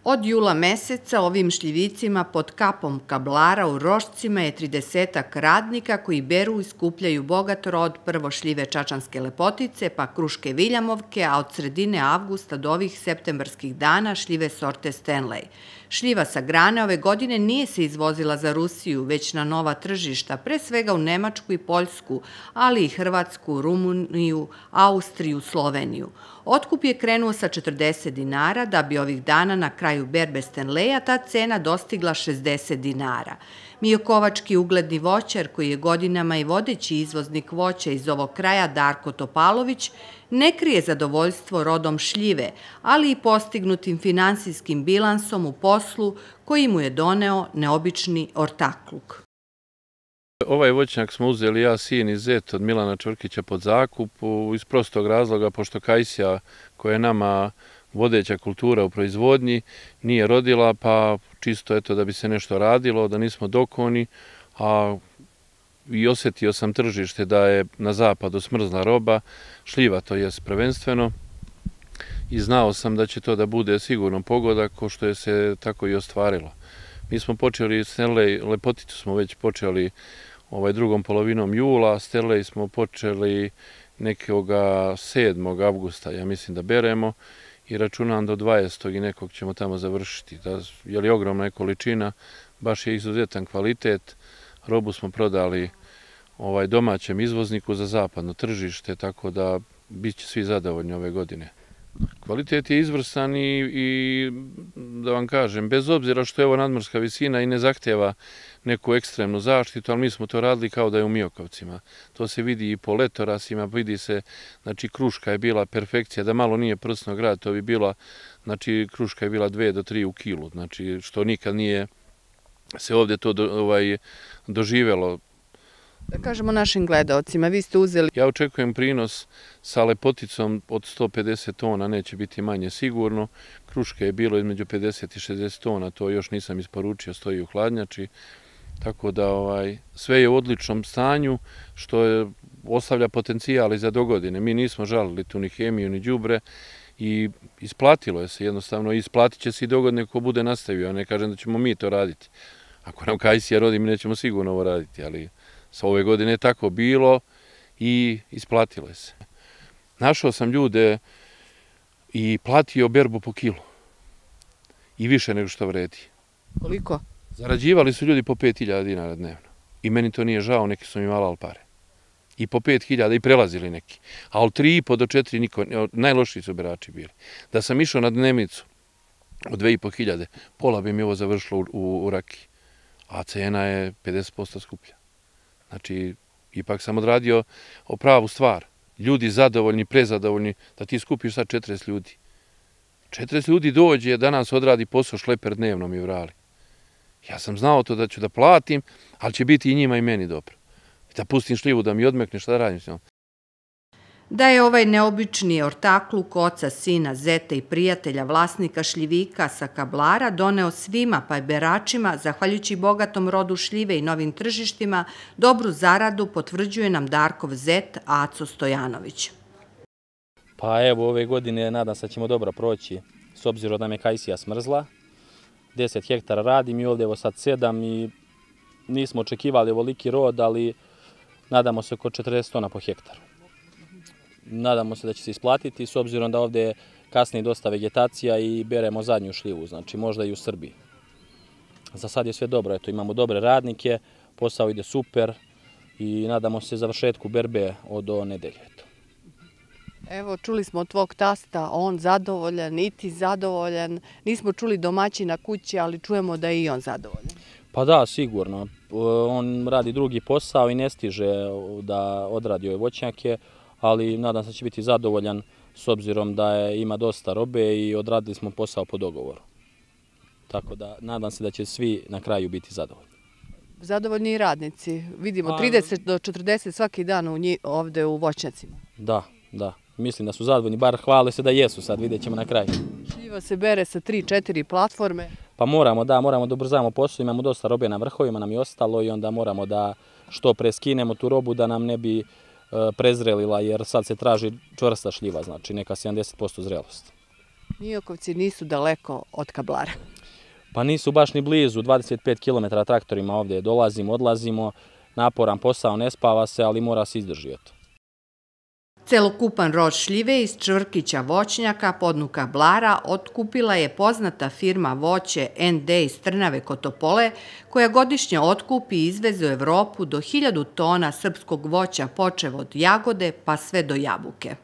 Od jula meseca ovim šljivicima pod kapom kablara u Rošcima je 30-ak radnika koji beru i skupljaju bogat rod, prvo šljive čačanske lepotice, pa kruške viljamovke, a od sredine avgusta do ovih septembarskih dana šljive sorte Stanley. Šljiva sa grane ove godine nije se izvozila za Rusiju, već na nova tržišta, pre svega u Nemačku i Poljsku, ali i Hrvatsku, Rumuniju, Austriju, Sloveniju. Otkup je krenuo sa 40 dinara, da bi ovih dana na kraju berbe Stanleya ta cena dostigla 60 dinara. Miokovački ugledni voćar, koji je godinama i vodeći izvoznik voća iz ovog kraja, Darko Topalović, ne krije zadovoljstvo rodom šljive, ali i postignutim finansijskim bilansom u poslu koji mu je doneo neobični ortakluk. Ovaj voćnjak smo uzeli ja, sin i zet od Milana Čvrkića pod zakup iz prostog razloga, pošto kajsija, koja je nama vodeća kultura u proizvodnji, nije rodila, pa čisto eto da bi se nešto radilo, da nismo dokoni, a i osjetio sam tržište da je na zapadu smrzla roba, šljiva to jest prvenstveno, i znao sam da će to da bude sigurno pogodak, ko što je se tako i ostvarilo. Mi smo počeli, Stanley lepoticu smo već počeli drugom polovinom jula, Stanley smo počeli nekog 7. avgusta, ja mislim da beremo, i računam do 20. i nekog ćemo tamo završiti. Je li ogromna količina, baš je izuzetan kvalitet, robu smo prodali domaćem izvozniku za zapadno tržište, tako da bit će svi zadovoljni ove godine. Kvalitet je izvrstan i da vam kažem, bez obzira što je ovo nadmorska visina i ne zahtjeva neku ekstremnu zaštitu, ali mi smo to radili kao da je u Miokovcima. To se vidi i po letorasima, vidi se, znači kruška je bila perfekcija, da malo nije prsno grad, to bi bila, znači kruška je bila 2 do 3 u kilu, znači što nikad nije se ovdje to doživjelo. Da kažemo našim gledaocima, vi ste uzeli... Ja očekujem prinos sa lepoticom od 150 tona, neće biti manje sigurno. Kruške je bilo između 50 i 60 tona, to još nisam isporučio, stoji u hladnjači. Tako da sve je u odličnom stanju, što ostavlja potencijal i za dogodine. Mi nismo žalili tu ni hemiju, ni đubre i isplatilo je se jednostavno. Isplatit će se i dogodine ko bude nastavio, a ne kažem da ćemo mi to raditi. Ako nam kajsija rodi, mi nećemo sigurno ovo raditi, ali... Sa ove godine je tako bilo i isplatilo se. Našao sam ljude i platio berbu po kilu. I više nego što vredi. Koliko? Zarađivali su ljudi po 5.000 dinara dnevno. I meni to nije žao, neki su mi malali pare. I po 5.000 i prelazili neki. A od 3,5 do 4 niko, najlošiji su berači bili. Da sam išao na dnevnicu od 2.500, pola bi mi ovo završilo u Rakiji. A cena je 50% skuplja. Znači, ipak sam odradio pravu stvar. Ljudi zadovoljni, prezadovoljni, da ti skupiš sad 40 ljudi. 40 ljudi dođe, danas odradi posao šleper dnevno mi vrali. Ja sam znao to da ću da platim, ali će biti i njima i meni dobro. Da pustim šljivu, da mi odmekne, šta da radim s njom. Da je ovaj neobični ortakluk oca, sina, zeta i prijatelja vlasnika šljivika sa kablara doneo svima, pa i beračima, zahvaljujući bogatom rodu šljive i novim tržištima, dobru zaradu potvrđuje nam Darkov zet Aco Stojanović. Pa evo, ove godine nadam se da ćemo dobro proći, s obzirom da me kajsija smrzla. 10 hektara radim i ovdje evo sad 7 i nismo očekivali ovoliki rod, ali nadamo se oko 40 tona po hektaru. Nadamo se da će se isplatiti, s obzirom da ovdje kasni dosta vegetacija i beremo zadnju šljivu, znači možda i u Srbiji. Za sad je sve dobro, eto, imamo dobre radnike, posao ide super i nadamo se završetku berbe od nedelje. Evo, čuli smo od tvog tasta, on zadovoljan, i ti zadovoljan. Nismo čuli domaćina kuće, ali čujemo da je i on zadovoljan. Pa da, sigurno. On radi drugi posao i ne stiže da odradi ove voćnjake, ali nadam se da će biti zadovoljan s obzirom da ima dosta robe i odradili smo posao po dogovoru. Tako da nadam se da će svi na kraju biti zadovoljni. Zadovoljni i radnici. Vidimo 30 do 40 svaki dan ovdje u voćnjacima. Da, da. Mislim da su zadovoljni, bar hvale se da jesu, sad vidjet ćemo na kraju. Šljiva se bere sa 3-4 platforme. Pa moramo da ubrzamo posao, imamo dosta robe na vrhovima, nam je ostalo i onda moramo da što pre skinemo tu robu da nam ne bi prezrelila, jer sad se traži čvrsta šljiva, znači neka 70% zrelost. Niokovci nisu daleko od Kablara. Pa nisu baš ni blizu, 25 km traktorima ovdje dolazimo, odlazimo, naporan posao, ne spava se, ali mora se izdržati. Celokupan rod šljive iz čvrkića voćnjaka podnu Kablara otkupila je poznata firma Voće ND iz Trnave kod Topole, koja godišnje otkupi i izveze u Evropu do 1000 tona srpskog voća počev od jagode pa sve do jabuke.